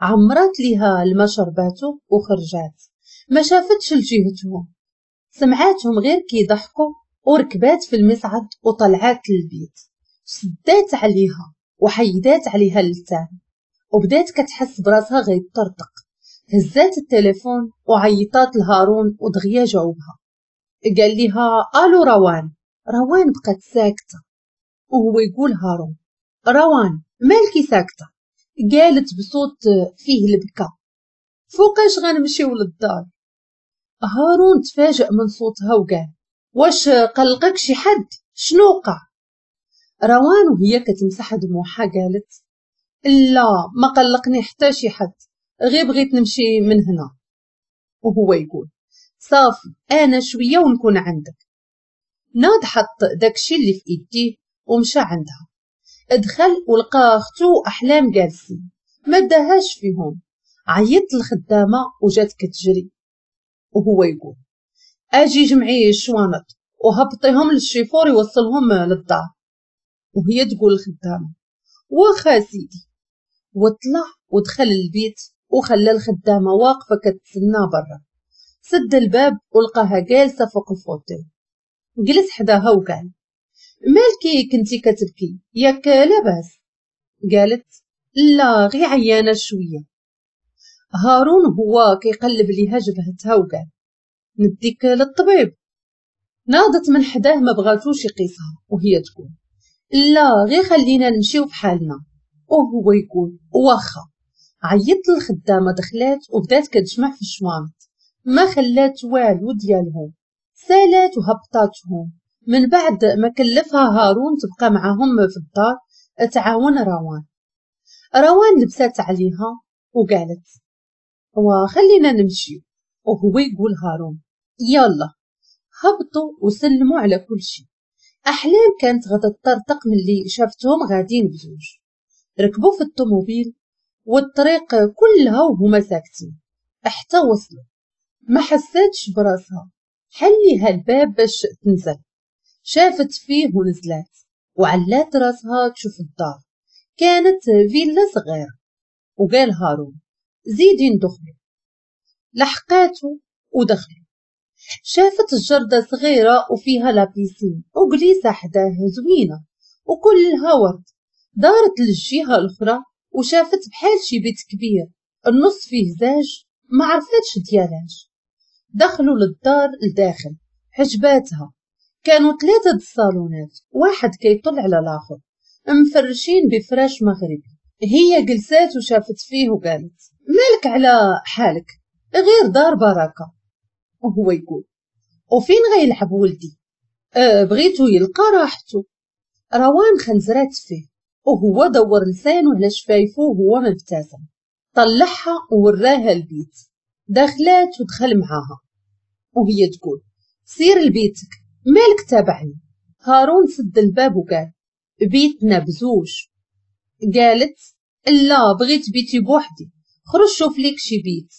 عمرات ليها الماء شرباتو وخرجات، ما شافتش لجهتهم، سمعاتهم غير كيضحكوا، وركبات في المصعد وطلعات للبيت. سدات عليها وحيدات عليها اللسان، وبدات كتحس براسها غيطرطق. هزات التليفون وعيطات لهارون ودغيا جاوبها. قال لها الو روان. روان بقات ساكته، وهو يقول هارون روان مالكي ساكته؟ قالت بصوت فيه البكا فوقاش غنمشيو للدار؟ هارون تفاجأ من صوتها وقال واش قلقك شي حد؟ شنو وقع؟ روان وهي كتمسح دموعها قالت لا ما قلقني حتى شي حد، غير بغيت نمشي من هنا. وهو يقول صافي انا شوية ونكون عندك. ناض حط داكشي اللي في ايديه ومشى عندها. دخل ولقى اختو احلام جالسين، ما داهاش فيهم. عيطت الخدامة وجات كتجري، وهو يقول اجي جمعي الشوانط وهبطيهم للشيفور يوصلهم للدار. وهي تقول الخدامة واخا سيدي. وطلع ودخل البيت وخلى الخدامة واقفة كتسنى برا. سد الباب ولقاها جالسة فوق ال fauteuil. جلس حداها وقال مالكي كنتي كتبكي ياك لاباس؟ قالت لا غير عيانه شوية. هارون هو كيقلب ليها جبهتها وقال نديك للطبيب. ناضت من حداه ما بغاتوش يقيسها، وهي تقول لا غير خلينا نمشيو بحالنا. وهو يقول واخا. عيطت للخدامه دخلات وبدات كتجمع في الشوانط، ما خلات والو ديالهم، سالات وهبطاتهم. من بعد ما كلفها هارون تبقى معاهم في الدار تعاون روان. روان لبسات عليها وقالت وخلينا نمشي. وهو يقول هارون يلا. هبطوا وسلموا على كل شيء. احلام كانت غادا تطرطق ملي شافتهم غاديين بزوج. ركبوا في الطوموبيل والطريق كلها وهما ساكتين حتى وصلوا. ما حساتش براسها، حليها الباب باش تنزل. شافت فيه ونزلات وعلات راسها تشوف الدار. كانت فيلا صغيرة. وقال هارون زيدي ندخلوا. لحقاتو ودخلوا. شافت الجردة صغيرة وفيها la piscine وجليسة حداه زوينة وكلها ورد. دارت للجهة الأخرى وشافت بحال شي بيت كبير النص فيه زاج، ما عرفتش ديالاش. دخلوا للدار لداخل، عجباتها. كانوا ثلاثة الصالونات، واحد كيطل على الآخر، مفرشين بفراش مغربي. هي جلسات وشافت فيه وقالت مالك على حالك، غير دار بركة. وهو يقول وفين غيلعب ولدي؟ أه بغيتو يلقى راحته. روان خنزرات فيه وهو دور لسانه على شفايفه وهو مبتسم. طلعها ووراها البيت. دخلات ودخل معاها وهي تقول سير لبيتك مالك تابعني. هارون سد الباب وقال بيتنا بزوج. قالت لا بغيت بيتي بوحدي، خرج شوف ليك شي بيت.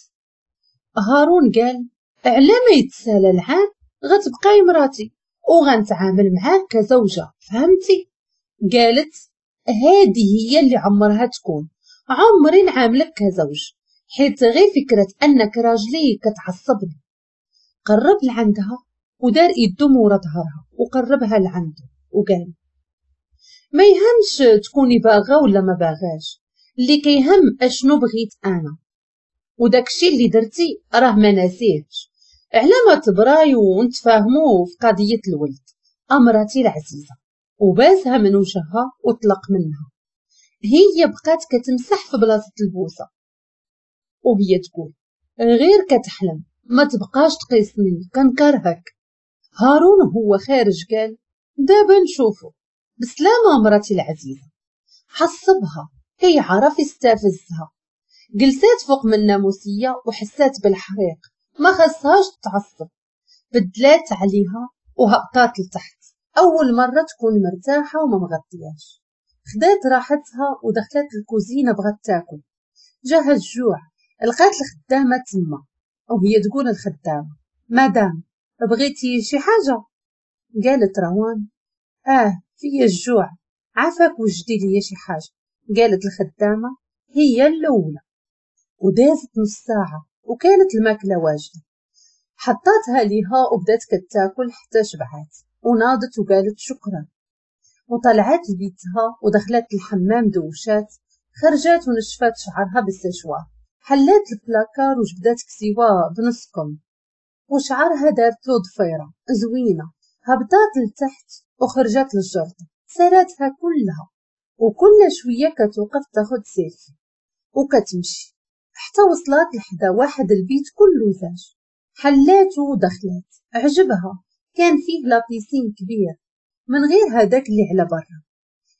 هارون قال على ما يتسالى العام غتبقاي مراتي وغنتعامل معاك كزوجة، فهمتي؟ قالت هذه هي اللي عمرها تكون، عمري نعاملك كزوج، حيت غير فكرة أنك راجلي كتعصبني. قرب لعندها ودار يدو مورا ظهرها وقربها لعنده وقال ما يهمش تكوني باغا ولا ما باغاش، اللي كيهم اشنو بغيت انا، وداكشي اللي درتي راه ما ناسيهش. على ما تبراي ونتفاهمو في قضية الولد امرتي العزيزة. وباسها من وجهها وطلق منها. هي بقات كتمسح في بلاصة البوسه وهي تقول غير كتحلم، ما تبقاش تقيسني كنكرهك. هارون هو خارج قال دابا نشوفو، بسلامه مراتي العزيزة. حصبها كيعرف يستفزها. جلسات فوق من الناموسيه وحسات بالحريق، ما خصهاش تتعصب. بدلات عليها وهبطات لتحت. اول مرة تكون مرتاحة وما مغطياش. خدات راحتها ودخلت الكوزينة بغات تاكل. جاها الجوع، لقات الخدامة تما وهي تقول الخدامة مدام بغيتي شي حاجة؟ قالت روان اه فيا الجوع، عافاك وجدي لي شي حاجة. قالت الخدامة هي الاولى. ودازت نص ساعة وكانت الماكلة واجدة. حطاتها ليها وبدات كتاكل حتى شبعات وناضت وقالت شكرا. وطلعت لبيتها ودخلت الحمام دوشات، خرجات ونشفات شعرها بالسشوار. حلات البلاكار وجبدات كسيوه بنص كم وشعرها دارت له ضفيرة زوينة. هبطات لتحت وخرجت للجردة، سراتها كلها، وكل شوية كتوقف تاخد سيلفي وكتمشي حتى وصلت لحدا واحد البيت كله زاج. حلاته ودخلات، عجبها. كان فيه la piscine كبير من غير هذاك اللي على برا،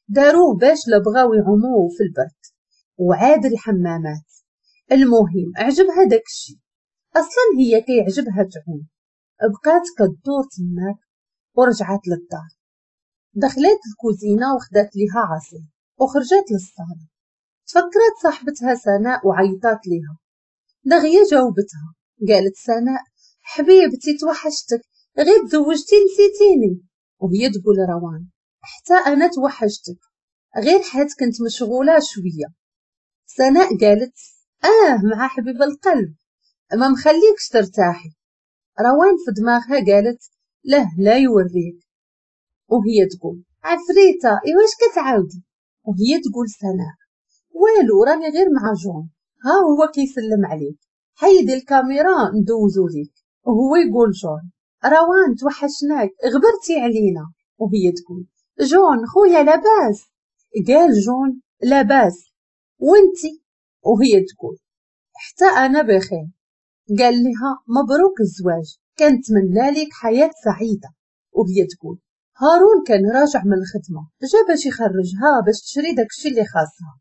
داروه باش لبغاو يعوموه في البرد، وعاد الحمامات. المهم عجبها داك الشيء، اصلا هي كيعجبها تعوم. بقات كدور تماك ورجعت للدار. دخلت الكوزينة وخدات ليها عصير وخرجت للصالة. تفكرت صاحبتها سناء وعيطات ليها. دغيا جاوبتها، قالت سناء حبيبتي توحشتك، غير تزوجتي نسيتيني. وهي تقول روان حتى انا توحشتك، غير حيت كنت مشغولة شوية. سناء قالت اه مع حبيب القلب ما مخليكش ترتاحي. روان في دماغها قالت له لا يوريك. وهي تقول عفريته ايواش كتعاودي؟ وهي تقول سناء والو راني غير مع جون، ها هو كيسلم عليك، حيدي الكاميرا ندوزو ليك. وهو يقول جون روان توحشناك غبرتي علينا. وهي تقول جون خويا لاباس؟ قال جون لاباس وانتي؟ وهي تقول حتى انا بخير. قال لها مبروك الزواج، كنتمنى لك حياة سعيدة. وهي تقول هارون كان راجع من الخدمة، جا باش يخرجها باش تشري داكشي اللي خاصها.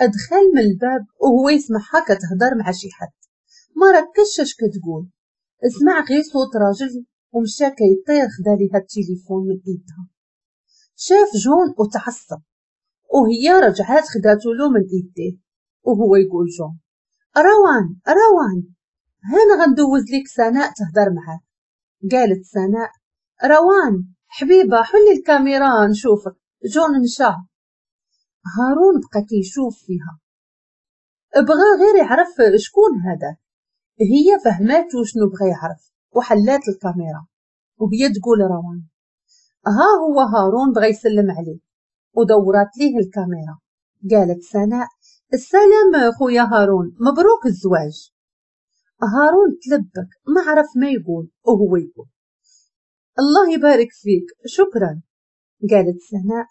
ادخل من الباب وهو يسمعها كتهضر مع شي حد، ما ركزش اش كتقول، اسمع غير صوت راجل ومشى كيطير خدا ليها التليفون من ايدها. شاف جون وتعصب، وهي رجعات خداتو له من ايديه. وهو يقول جون روان روان هانا غندوز ليك سناء تهضر معاك. قالت سناء روان حبيبه حلي الكاميرا نشوفك. جون مشى. هارون بقى كيشوف فيها، بغى غير يعرف شكون هذا. هي فهماتو شنو بغى يعرف وحلات الكاميرا. وهي تقول روان ها هو هارون بغى يسلم عليه، ودورات ليه الكاميرا. قالت سناء السلام خويا هارون مبروك الزواج. هارون تلبك ما عرف ما يقول، وهو يقول الله يبارك فيك شكرا. قالت سناء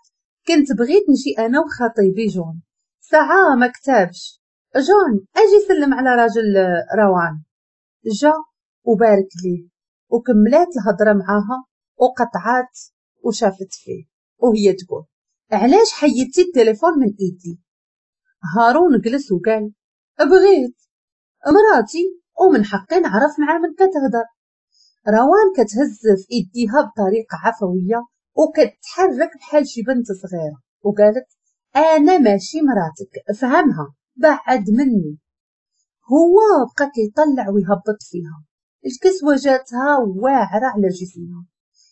كنت بغيت نجي انا وخطيبي جون، ساعة ما كتابش. جون اجي سلم على راجل روان. جا وبارك ليه، وكملات الهضرة معاها وقطعات وشافت فيه وهي تقول علاش حيدتي التليفون من ايدي؟ هارون جلس وقال بغيت مراتي ومن حقي نعرف مع من كتهضر. روان كتهز في ايديها بطريقة عفوية وكتحرك بحال شي بنت صغيرة وقالت انا ماشي مراتك فهمها، بعد مني. هو بقى كيطلع ويهبط فيها، الكسوة جاتها واعرة على جسمها،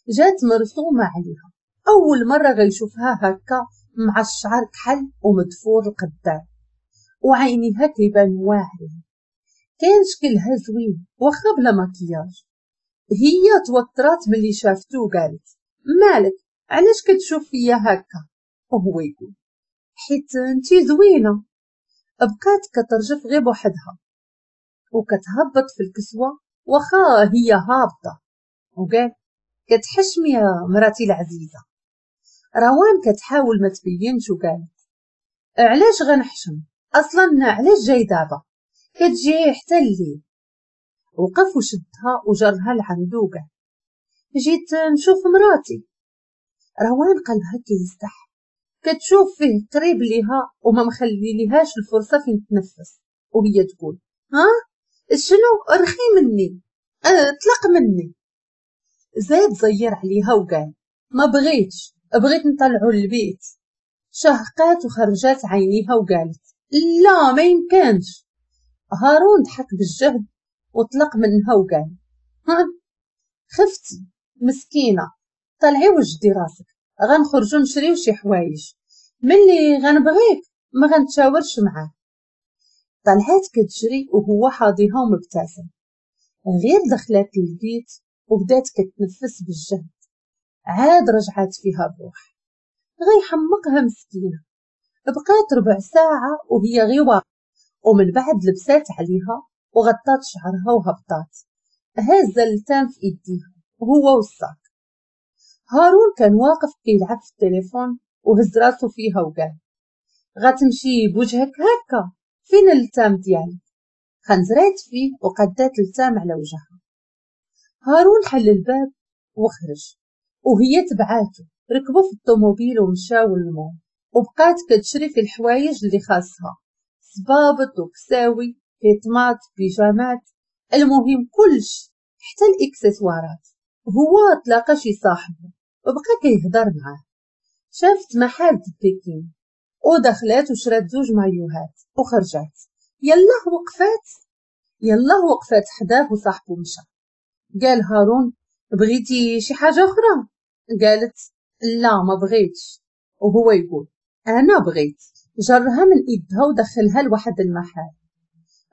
جات مرسومه عليها. اول مرة غيشوفها هكا مع الشعر كحل ومدفور القدام وعينيها كيبان واعرين، كان شكلها زوين واخا بلا مكياج. هي توترات ملي شافتو وقالت مالك علاش كتشوف فيا هكا؟ وهو يقول حيت انتي زوينة. بقات كترجف غير بوحدها وكتهبط في الكسوة واخا هي هابطة، وقال كتحشمي يا مراتي العزيزة. روان كتحاول ما تبينش وقالت علاش غنحشم اصلا، علاش جاي دابا كتجي حتى الليل؟ وقف وشدها وجرها لعندو وقال جيت نشوف مراتي. روان قلبها كيزدح، كتشوف فيه قريب ليها وما مخلي ليهاش الفرصة فين تنفس، وهي تقول ها شنو رخي مني، اه طلق مني. زاد زير عليها وقال ما بغيتش، بغيت نطلعو للبيت. شهقات وخرجات عينيها وقالت لا ما يمكنش. هارون ضحك بالجهد وطلق منها وقال ها خفتي مسكينه، طلعي وجدي راسك، غنخرجو نشريو شي حوايج، ملي غنبغيك ما غنتشاورش معاك. طلعات كتجري وهو حاضيها ومبتسم. غير دخلات للبيت وبدات كتنفس بالجهد، عاد رجعات فيها الروح، غيحمقها مسكينه. بقات ربع ساعة وهي غير واقفة، ومن بعد لبسات عليها وغطات شعرها وهبطات هازه اللتان في ايديها وهو والصاك. هارون كان واقف كيلعب في التليفون وهز راسو فيها وقال غتمشي بوجهك هكا، فين اللتام ديالك؟ خنزرات فيه وقدات اللتام على وجهها. هارون حل الباب وخرج وهي تبعاتو، ركبوا في الطوموبيل ومشاو للمول، وبقات كتشري في الحوايج اللي خاصها، صبابط وكساوي، كيطمات، بيجامات، المهم كلش حتى الاكسسوارات. هو تلاقى شي صاحبه وبقى كيهضر معاه. شافت محل بيكين ودخلات وشرات زوج مايوهات وخرجات. يلا وقفات يلا وقفات حداه وصاحبو مشى. قال هارون بغيتي شي حاجة أخرى؟ قالت لا ما بغيتش. وهو يقول أنا بغيت. جرها من إيدها ودخلها لواحد المحل.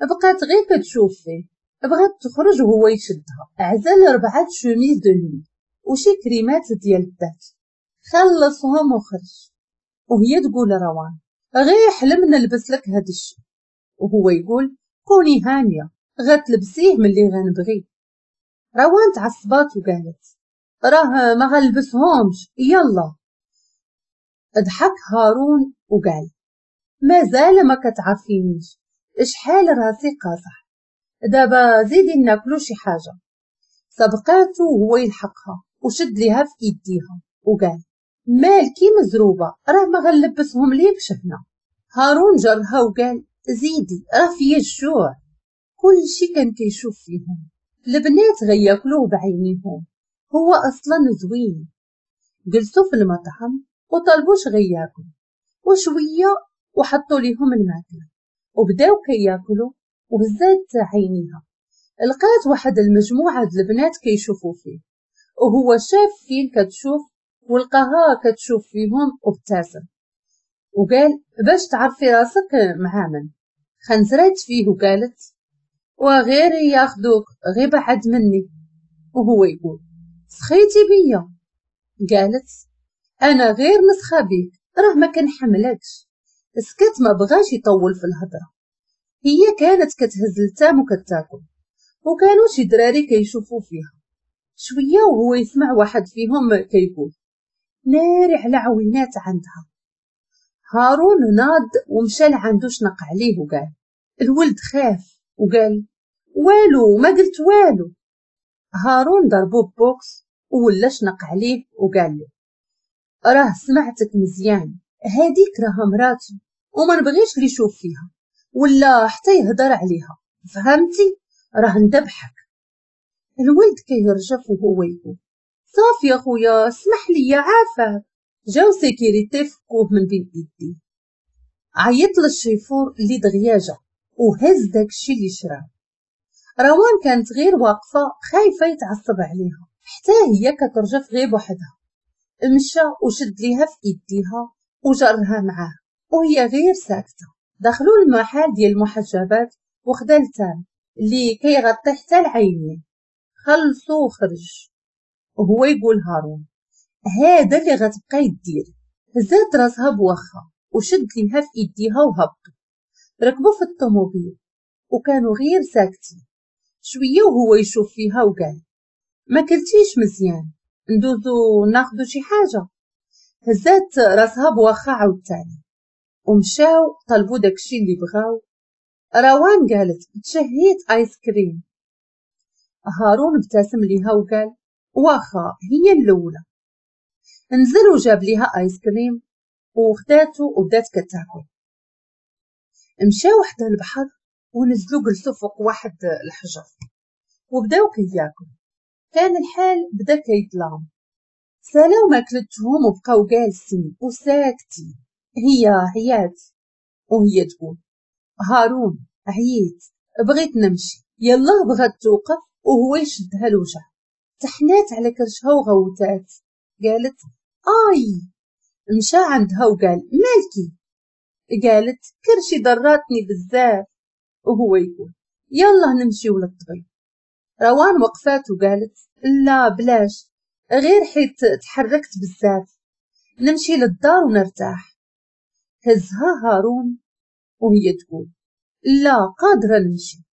بقات غير كتشوف فيه، بغات تخرج وهو يشدها. عزل ربعة chemises de nuit وشي كريمات ديال الذات، خلصهم وخرج. وهي تقول روان غير حلم نلبس لك هاد الشيء. وهو يقول كوني هانية غتلبسيه ملي غنبغي. روان تعصبات وقالت راه ما غنلبسهمش يلا. ضحك هارون وقال مازال ما كتعرفينيش، شحال راسي قاصح، دابا زيدي ناكلو شي حاجة. سبقاتو وهو يلحقها وشد ليها في ايديها وقال مالكي مزروبه، راه ما غنلبسهم ليكش هنا. هارون جرها وقال زيدي راه فيا الجوع. كلشي كان كيشوف فيهم، البنات غياكلوه بعينيهم، هو اصلا زوين. جلسوا في المطعم وطلبوش غياكلوا وشوية وحطوا ليهم الماكلة وبداو كياكلوا. وهزات عينيها لقات واحد المجموعة د البنات كيشوفوا فيه، وهو شاف فين كتشوف ولقاها كتشوف فيهم وابتسم وقال باش تعرفي راسك مع من. خنزرات فيه وقالت وغير ياخذوك غير بعد مني. وهو يقول سخيتي بيا؟ قالت انا غير نسخه بيك، راه ما كنحملكش. سكت ما بغاش يطول في الهضرة. هي كانت كتهز التام وكتاكل، وكانوا شي دراري كيشوفوا فيها. شوية وهو يسمع واحد فيهم كيقول ناري على عوينات عندها. هارون ناض ومشى لعندو شنق عليه وقال الولد خاف وقال والو ما قلت والو. هارون ضربو بوكس ولا شنق عليه وقال له راه سمعتك مزيان، هاديك راها مراتي وما نبغيش اللي يشوف فيها ولا حتى يهضر عليها، فهمتي؟ راه ندبحك. الولد كيرجف وهو يقول صافي يا خويا اسمح لي عافاك. جاو sécurité فكوه من بين ايديه. عيط للشيفور اللي دغيا جا وهز داكشي اللي شراه. روان كانت غير واقفة خايفة يتعصب عليها، حتى هي كترجف غير بوحدها. مشى وشد ليها في ايديها وجرها معاه وهي غير ساكته. دخلوا المحل ديال المحجبات وخدا التام اللي كيغطي حتى العينين. خلصوا وخرج وهو يقول هارون هذا اللي غتبقاي دير. هزات راسها بوخه وشد ليها في ايديها وهبطوا. ركبوا في الطوموبيل وكانوا غير ساكتين. شوية وهو يشوف فيها وقال ما كلتيش مزيان، ندوزو ناخدو شي حاجة. هزات راسها بواخا عاوتاني ومشاو طلبوا داكشي اللي بغاو. روان قالت تشهيت ايس كريم. هارون ابتسم ليها وقال واخا هي الاولى. نزل وجاب ليها ايس كريم وخداتو وبدات كتاكل. مشاو حدا البحر ونزلوا جلسوا فوق واحد الحجر وبداو كياكلوا. كان الحال بدا كيظلام. سالاو ماكلتهم وبقاو جالسين وساكتين. هي عيات وهي تقول هارون عييت بغيت نمشي. يلا بغات توقف وهو يشدها الوجع. تحنات على كرشها وغوتات قالت اي. مشى عندها وقال مالكي؟ قالت كرشي ضراتني بزاف. وهو يقول يلا نمشيو للطبيب. روان وقفات وقالت لا بلاش، غير حيت تحركت بزاف، نمشي للدار ونرتاح. هزها هارون وهي تقول لا قادرة نمشي.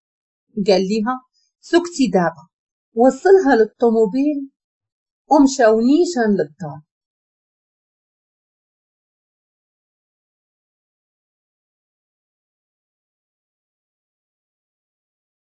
قال ليها سكتي دابا. وصلها للطوموبيل ومشاو نيشان للدار.